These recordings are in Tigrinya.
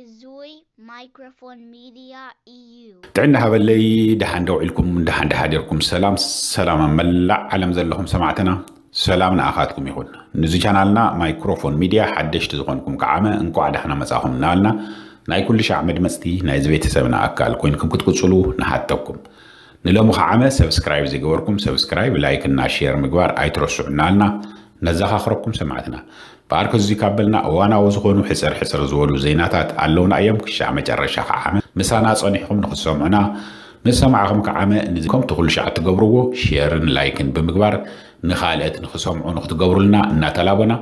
እዙይ ማይክሮፎን ሚድያ እዩ። ጥዕና ሃበለይ። ደሓን ደውዒልኩም፣ ደሓን ደሓዲርኩም። ሰላም ሰላም ኣብ መላእ ዓለም ዘለኹም ሰማዕትና፣ ሰላም ንኣኻትኩም ይኹን። ንዚ ቻናልና ማይክሮፎን ሚድያ ሓደሽቲ ዝኾንኩም ከዓመ እንቋዕ ዳሕና መጻኹም እናበልና፣ ናይ ኩሉ ሻዕ መድመጽቲ ናይዚ ቤተሰብና ኣካል ኮይንኩም ክትቅጽሉ ንሓተኩም። ንሎሚ ከዓመ ሰብስክራይብ ዘይገበርኩም ሰብስክራይብ፣ ላይክ እና ሼር ምግባር ኣይትረስዑ እናበልና ነዘኻኽረኩም ሰማዕትና። በኣርከ እዚ ካብ በልና እዋናዊ ዝኾኑ ሕጽር ሕጽር ዝበሉ ዜናታት ኣለውና እዮም። ክሻዕ መጨረሻ ከዓመ ምሳና ጸኒሕኩም ንኽትሰምዑና፣ ምስ ሰማዕኹም ከዓመ ንዚ ከምቲ ኩሉ ሻዕ ትገብርዎ ሼርን ላይክን ብምግባር ንኻልኦት ንኽሰምዑ ንኽትገብሩልና እናተላቦና፣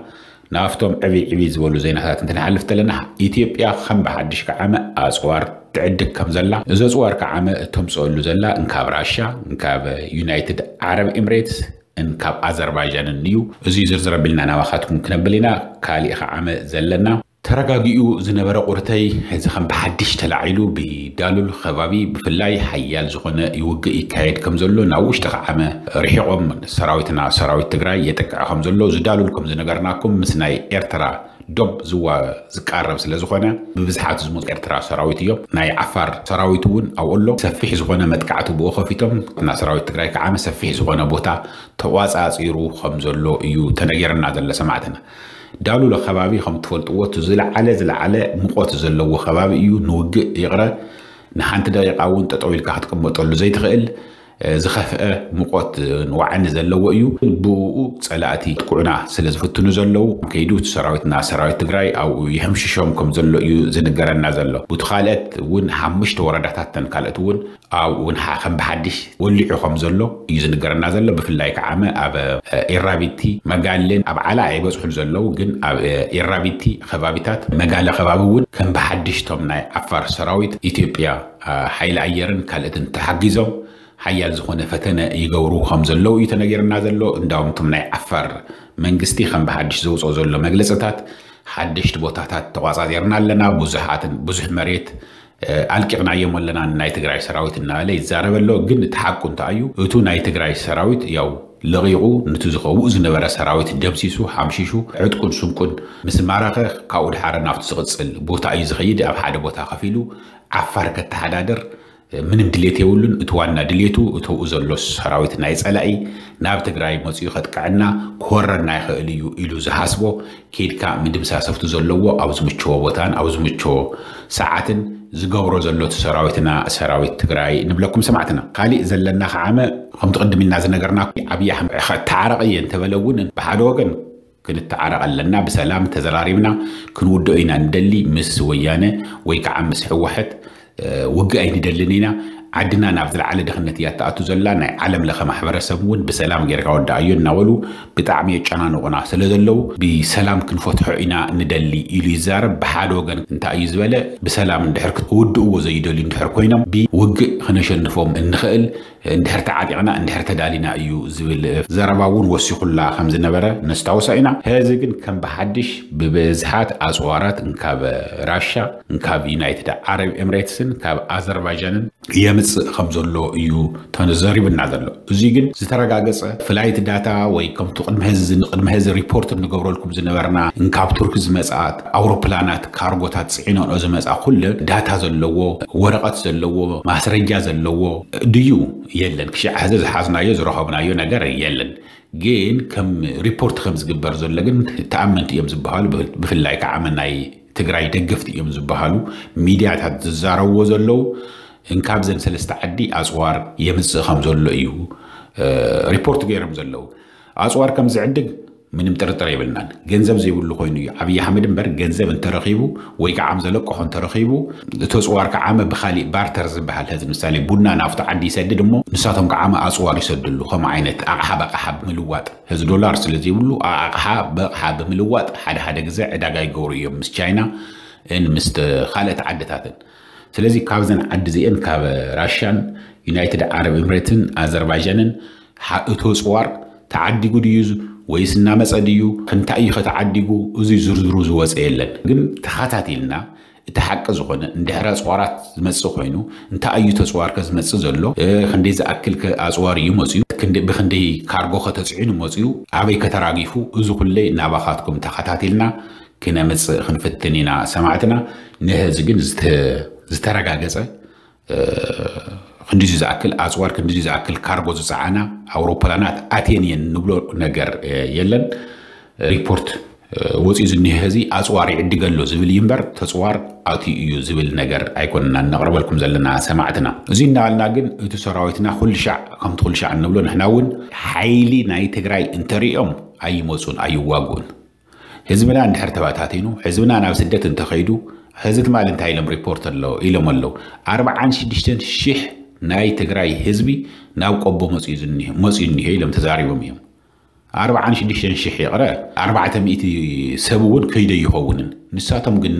ናብቶም ዕብይ ዕብይ ዝበሉ ዜናታት እንትንሓልፍ ተለና፣ ኢትዮጵያ ከም ብሓድሽ ከዓመ ኣጽዋር ትዕድግ ከም ዘላ፣ እዚ ኣጽዋር ከዓመ እተምጽአሉ ዘላ እንካብ ራሻ፣ እንካብ ዩናይትድ ዓረብ ኤምሬትስ፣ እንካብ ኣዘርባይጃንን እዩ። እዚ ዝርዝር ኣቢልና ናባኻትኩም ክነብል ኢና። ካሊእ ከዓመ ዘለና ተረጋጊኡ ዝነበረ ቁርተይ፣ እዚ ከም ብሓድሽ ተላዒሉ ብዳሉል ከባቢ ብፍላይ ሓያል ዝኾነ ውግእ ይካየድ ከም ዘሎ፣ ናብ ውሽጢ ከዓመ ርሒቖም ሰራዊትና ሰራዊት ትግራይ የጥቅዕ ከም ዘሎ፣ እዚ ዳሉል ከም ዝነገርናኩም ምስ ናይ ኤርትራ ዶብ ዝዋ ዝቃረብ ስለ ዝኾነ፣ ብብዝሓት ዝመፁ ኤርትራ ሰራዊት እዮም። ናይ ዓፋር ሰራዊት እውን ኣብኡ ኣሎ። ሰፊሕ ዝኾነ መጥቃዕቲ ብኡ ከፊቶም፣ እና ሰራዊት ትግራይ ከዓመ ሰፊሕ ዝኾነ ቦታ ተቋፃፂሩ ከም ዘሎ እዩ ተነገርና ዘሎ ሰማዕትና። ዳሉል ከባቢ ከም ትፈልጥዎ፣ እቲ ዝለዓለ ዝለዓለ ሙቐት ዘለዎ ከባቢ እዩ። ንውግእ ይቕረ ንሓንቲ ደቂቃ እውን ጠጠው ኢልካ ክትቅመጠሉ ዘይትኽእል፣ እ፣ ዝኸፍአ ሙቐት ንዋዕኒ ዘለዎ እዩ። ብኡ ፀላእቲ ጥቁዕና ስለ ዝፍትኑ ዘለዉ፣ ከይዱ እቲ ሰራዊትና ሰራዊት ትግራይ ኣብኡ ይሕምሽሾም ከም ዘሎ እዩ ዝንገረና ዘሎ። ብቲ ካልኦት እውን ሓሙሽተ ወረዳታት ተን ካልኦት እውን ኣብኡ እውን ሓ-፣ ከም ብሓድሽ ወሊዑ ከም ዘሎ እዩ ዝንገረና ዘሎ። ብፍላይ ከዓመ ኣብ፣ እ፣ ኤራቢቲ፣ መጋሌን ኣብ ዓላ ኣይበፅሑን ዘለዉ፣ ግን ኣብ፣ እ፣ ኤራቢቲ ከባቢታት፣ መጋለ ከባቢ እውን ከም ብሓድሽ እቶም ናይ ዓፋር ሰራዊት ኢትዮጵያ፣ እ፣ ሓይሊ ኣየርን ካልኦትን ተሓጊዞም ሓያል ዝኾነ ፈተነ ይገብሩ ከም ዘለዉ እዩ ተነገርና ዘሎ። እንዳውም እቶም ናይ ዓፋር መንግስቲ ከም ብሓድሽ ዘውፅኦ ዘሎ መግለፅታት፣ ሓደሽቲ ቦታታት ተቋፃፂርና ኣለና፣ ብዙሓትን ብዙሕ መሬት፣ እ፣ ኣልቂቕናዮም ኣለና ናይ ትግራይ ሰራዊት እናበለ ይዛረብ ኣሎ። ግን እቲ ሓቁ እንታይ እዩ? እቱ ናይ ትግራይ ሰራዊት ያው ለቒቑ፣ ንቲ ዝኸውእ ዝነበረ ሰራዊት ደምሲሱ፣ ሓምሺሹ፣ ዕጥቁን ስንቁን ምስ ማረኸ፣ ካብኡ ድሓረ ናብቲ ዝቕፅል ቦታ እዩ ዝኸይድ። ኣብ ሓደ ቦታ ከፊሉ ዓፋር ከተሓዳድር ምንም ድሌት የብሉን። እቲ ዋና ድሌቱ፣ እተውኡ ዘሎ ሰራዊት ናይ ጸላኢ ናብ ትግራይ መጺኡ ከጥቅዐና ክወረና ይኽእል እዩ ኢሉ ዝሓስቦ፣ ኬድካ ምድምሳስ ኣብቲ ዘለዎ፣ ኣብ ዝምችዎ ቦታን ኣብ ዝምችዎ ሰዓትን ዝገብሮ ዘሎ እቲ ሰራዊትና፣ ሰራዊት ትግራይ ንብለኩም ሰማዕትና። ካሊእ ዘለና ከዓመ፣ ከምቲ ቅድም ኢልና ዝነገርና፣ ኣብይ ኣሕመድ ከተዓረቕ እየ እንተበለ እውን፣ ብሓደ ወገን ክንተዓረቕ ኣለና፣ ብሰላም ተዘራሪብና ክንውድኦ ኢና ንደሊ፣ ምስ ወያነ ወይ ከዓ ምስ ህወሓት፣ እ፣ ውግእ ኣይንደልን ኢና። ዓድና ናብ ዝለዓለ ድኽነት እያ ትኣቱ ዘላ። ናይ ዓለም ለኸ ማሕበረሰብ እውን ብሰላም ጌርካ ወድኣዮ እናበሉ ብጣዕሚ የጨናንቑና ስለ ዘለዉ፣ ብሰላም ክንፈትሖ ኢና ንደሊ ኢሉ ይዛረብ። ብሓደ ወገን እንታይ እዩ ዝበለ? ብሰላም እንድሕር ክውድእዎ ዘይደልዩ እንድሕር ኮይኖም፣ ብውግእ ክነሸንፎም እንኽእል እንድሕር ተዓጢቕና፣ እንድሕር ተዳሊና እዩ ዝብል ዘረባ እውን ወሲኹላ ከም ዝነበረ ነስታውሳ ኢና። ሕዚ ግን ከም ብሓድሽ ብብዝሓት ኣፅዋራት እንካብ ራሻ፣ እንካብ ዩናይትድ ዓረብ ኤምሬትስን ካብ ኣዘርባይጃንን የምፅእ ከም ዘሎ እዩ ተዘሪብና ዘሎ። እዚ ግን ዝተረጋገፀ ፍላይት ዳታ ወይ ከምቲ ቅድሚ ሕዚ፣ ቅድሚ ሕዚ ሪፖርት እንገብረልኩም ዝነበርና፣ እንካብ ቱርኪ ዝመፅኣ ኣውሮፕላናት ካርጎታት ፅዒነንኦ ዝመፅኣ ኩሉ ዳታ ዘለዎ፣ ወረቐት ዘለዎ፣ ማስረጃ ዘለዎ ድዩ? የለን። ክሻዕ ሕዚ ዝሓዝናዮ ዝረኸብናዮ ነገር የለን። ግን ከም ሪፖርት ከም ዝግበር ዘሎ ግን ተኣመንቲ እዮም ዝበሃሉ፣ ብፍ-፣ ብፍላይ ከዓ ናይ ትግራይ ደገፍቲ እዮም ዝበሃሉ ሚድያታት ዝዛረብዎ ዘለዉ፣ እንካብዘን ሰለስተ ዓዲ ኣፅዋር የምፅእ ከም ዘሎ እዩ፣ እ፣ ሪፖርት ገይሮም ዘለዉ። ኣፅዋር ከም ዝዕድግ ምንም ጥርጥር የብልናን። ገንዘብ ዘይብሉ ኮይኑ እዩ ኣብይ ኣሕመድ እምበር፣ ገንዘብ እንተረኺቡ ወይ ከዓ ዘለቀሖ እንተረኺቡ፣ እቲ ኣፅዋር ከዓ ብካሊእ ባርተር ዝበሃል፣ ሕዚ ምሳሌ ቡና ናብቲ ዓዲ ይሰድድ እሞ፣ ንሳቶም ከዓ ኣፅዋር ይሰድሉ። ከምኡ ዓይነት ኣቕሓ ብኣቕሓ ብምልዋጥ፣ ሕዚ ዶላር ስለ ዘይብሉ፣ ኣቕሓ ብኣቕሓ ብምልዋጥ ሓደ ሓደ ግዜ ዕዳጋ ይገብሩ እዮም ምስ ቻይና ን ምስ ካልኦት ዓድታትን። ስለዚ ካብዘን ዓዲ እዚአን፣ ካብ ራሻን ዩናይትድ ዓረብ ኤምሬትን ኣዘርባይጃንን፣ ሓ-፣ እቲ ኣፅዋር ተዓዲጉ ድዩ ወይስ እናመፀ ድዩ? ክንታይ እዩ ከተዓዲጉ? እዚ ዝርዝሩ ዝወፀ የለን። ግን ተኸታቲልና እቲ ሓቂ ዝኾነ፣ እንድሕር ኣፅዋራት ዝመፅእ ኮይኑ፣ እንታይ እዩ ተፅዋርከ ዝመፅእ ዘሎ? እ፣ ክንደይ ዝኣክል ከ ኣፅዋር እዩ መፅዩ? ክንደይ፣ ብክንደይ ካርጎ ከተፅዒኑ መፅዩ? ኣበይ ከተራጊፉ? እዚ ኩለይ ናባኻትኩም ተኸታቲልና ክነምፅእ ክንፍትን ኢና ሰማዕትና። ንህዚ ግን ዝተረጋገፀ ክንዲዚ ዝኣክል ኣፅዋር ክንዲዚ ዝኣክል ካርጎ ዝፀዓና ኣውሮፕላናት ኣትየን እየን ንብሎ ነገር የለን። ሪፖርት ወፂኡ ዝኒሀ ህዚ ኣፅዋር ይዕድገ ኣሎ ዝብል እዩ እምበር ተፅዋር ኣትዩ እዩ ዝብል ነገር ኣይኮንና እነቕርበልኩም ዘለና ሰማዕትና። እዚ እናበልና ግን እቲ ሰራዊትና ኩሉ ሻዕ ከምቲ ኩሉ ሻዕ እንብሎ ንሕና እውን ሓይሊ ናይ ትግራይ እንተሪኦም ኣይመፁን ኣይዋግኡን። ህዝብና እንድሕር ተባታቲኑ ህዝብና ናብ ስደት እንተኸይዱ ህዚ ትማል እንታይ ኢሎም ሪፖርት ኣሎ ኢሎም ኣለዉ። ኣርብዓን ሽዱሽተን ሽሕ ናይ ትግራይ ህዝቢ ናብ ቆቦ መፅኡ እኒሀ ኢሎም ተዛሪቦም እዮም። ኣርብዓን ሽዱሽተን ሽሕ ይቕረ ኣርባዕተ ሚእቲ ሰብ እውን ከይደ ይኸውንን ንሳቶም ግን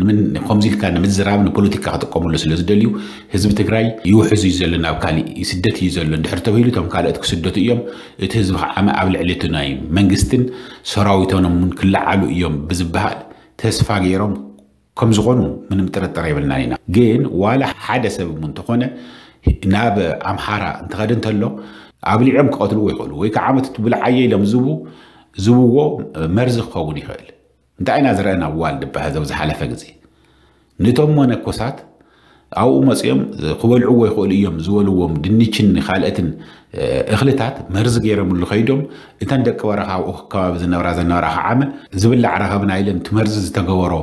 ከምዚ ኢልካ ንምዝራብ ንፖለቲካ ክጥቀምሉ ስለ ዝደልዩ ህዝቢ ትግራይ ይውሕዝ እዩ ዘሎ ናብ ካሊእ ስደት እዩ ዘሎ እንድሕር ተባሂሉ እቶም ካልኦት ክስደቱ እዮም። እቲ ህዝቢ ከዓ ኣብ ልዕሊ እቲ ናይ መንግስትን ሰራዊቶምን ክለዓሉ እዮም ብዝበሃል ተስፋ ገይሮም ከም ዝኾኑ ምንም ጥርጥር የብልናን ኢና። ግን ዋላ ሓደ ሰብ እውን እንተኾነ ናብ ኣምሓራ እንተኸደ እንተሎ ኣብሊዖም ክቐትልዎ ይኽእሉ ወይ ከዓ መትቲ ብልዓየ ኢሎም ዝቡ ዝብዎ መርዚ ክኸውን ይኽእል። እንታይ ኢና ዝረአና ዋልድባ ህዘብ ዝሓለፈ ግዜ ንቶም መነኮሳት ኣብኡ መፅኦም ክበልዕዎ ይኽእሉ እዮም ዝበልዎም ድንችን ካልኦትን እኽልታት መርዚ ገይሮምሉ ከይዶም እተን ደቂ በረኻ ኣብኡ ከባቢ ዝነብራ ዘነበራ ከዓመ ዝብላዕ ረኸብና ኢለን እቲ መርዚ ዝተገበሮ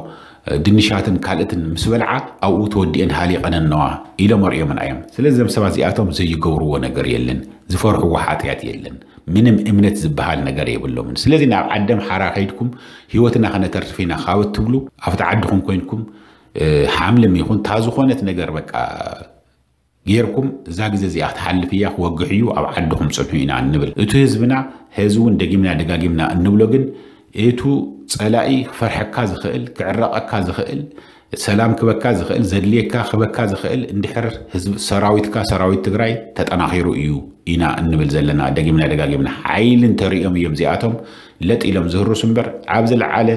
ድንሻትን ካልእትን ምስ በልዓ ኣብኡ ተወዲኤን ሃሊቐን ኣለዋ ኢሎም ኣርእዮምና እዮም። ስለዚ እዞም ሰባት እዚኣቶም ዘይገብርዎ ነገር የለን፣ ዝፈርሕዎ ሓጥያት የለን፣ ምንም እምነት ዝበሃል ነገር የብሎምን። ስለዚ ናብ ዓዲ ኣምሓራ ከይድኩም ህይወትና ከነተርፍ ኢና ካብ እትብሉ ኣብቲ ዓድኹም ኮይንኩም ሓምልም ይኹን እታ ዝኾነት ነገር በቃ ጌርኩም እዛ ግዜ እዚኣ ክትሓልፍ እያ ክወግሕ እዩ ኣብ ዓድኹም ፅንሑ ኢና እንብል። እቲ ህዝብና ህዚ እውን ደጊምና ደጋጊምና እንብሎ ግን እቱ ፀላኢ ክፈርሐካ ዝኽእል ክዕረቐካ ዝኽእል ሰላም ክበካ ዝኽእል ዘድልየካ ክበካ ዝኽእል እንድሕር ህዝብ ሰራዊትካ ሰራዊት ትግራይ ተጠናኺሩ እዩ ኢና እንብል ዘለና ደጊምና ደጋጊምና። ሓይሊ እንተሪኦም እዮም እዚኣቶም ለጥ ኢሎም ዝህርሱ እምበር ኣብ ዝለዓለ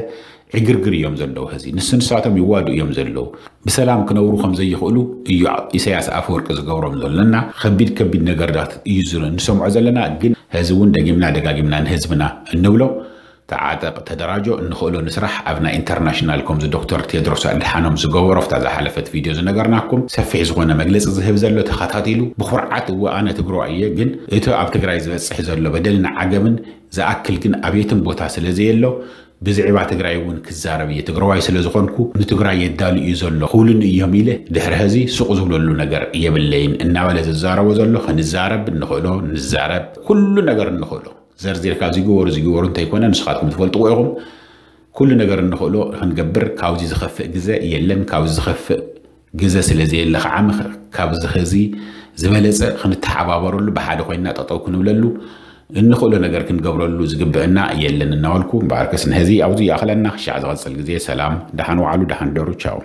ዕግርግር እዮም ዘለዉ። ህዚ ንሱ ንሳቶም ይዋዱ እዮም ዘለዉ። ብሰላም ክነብሩ ከም ዘይኽእሉ እዩ ኢሳያስ ኣፈወርቂ ዝገብሮም ዘሎ እና ከቢድ ከቢድ ነገርታት እዩ ዝረ ንሰምዖ ዘለና። ግን ህዚ እውን ደጊምና ደጋጊምና ንህዝብና እንብሎ ተዓጠቕ ተደራጆ እንኽእሎ ንስራሕ ኣብ ናይ ኢንተርናሽናል ከምዚ ዶክተር ቴድሮስ ኣድሓኖም ዝገበሮ ፍታ ዝሓለፈት ቪድዮ ዝነገርናኩም ሰፊሕ ዝኾነ መግለፂ ዝህብ ዘሎ ተኸታቲሉ ብኩርዓት እወ ኣነ ትግረዋይ እየ ግን እቲ ኣብ ትግራይ ዝበፅሕ ዘሎ በደልን ዓገምን ዝኣክል ግን ኣብ የትም ቦታ ስለ ዘየሎ ብዝዕባ ትግራይ እውን ክዛረብ እየ ትግራዋይ ስለ ዝኾንኩ ንትግራይ የዳሉ እዩ ዘሎ ክብሉኒ እዮም ኢለ ድሕሪ ሕዚ ሱቕ ዝብለሉ ነገር የብለይን እናበለ ዝዛረቦ ዘሎ ክንዛረብ እንኽእሎ ንዛረብ ኩሉ ነገር እንኽእሎ ዘርዚርካ ዝግበሩ ዝግበሩ እንተይኮነ ንስኻትኩም ትፈልጥዎ ኢኹም ኩሉ ነገር እንኽእሎ ክንገብር ካብዚ ዝኸፍእ ግዘ የለን ካብዚ ዝኸፍእ ግዘ ስለ ዘየለ ከዓ ምኽ- ካብዚ ኸዚ ዝበለፀ ክንተሓባበረሉ ብሓደ ኮይንና ጠጠው ክንብለሉ እንኽእሎ ነገር ክንገብረሉ ዝግብእና የለን እናበልኩ እምበኣርከስ ንሕዚ ኣብዚ ይኣኽለና ክሻዕ ዝቐፅል ግዜ ሰላም ደሓን ዋዕሉ ደሓን ደሩ ቻው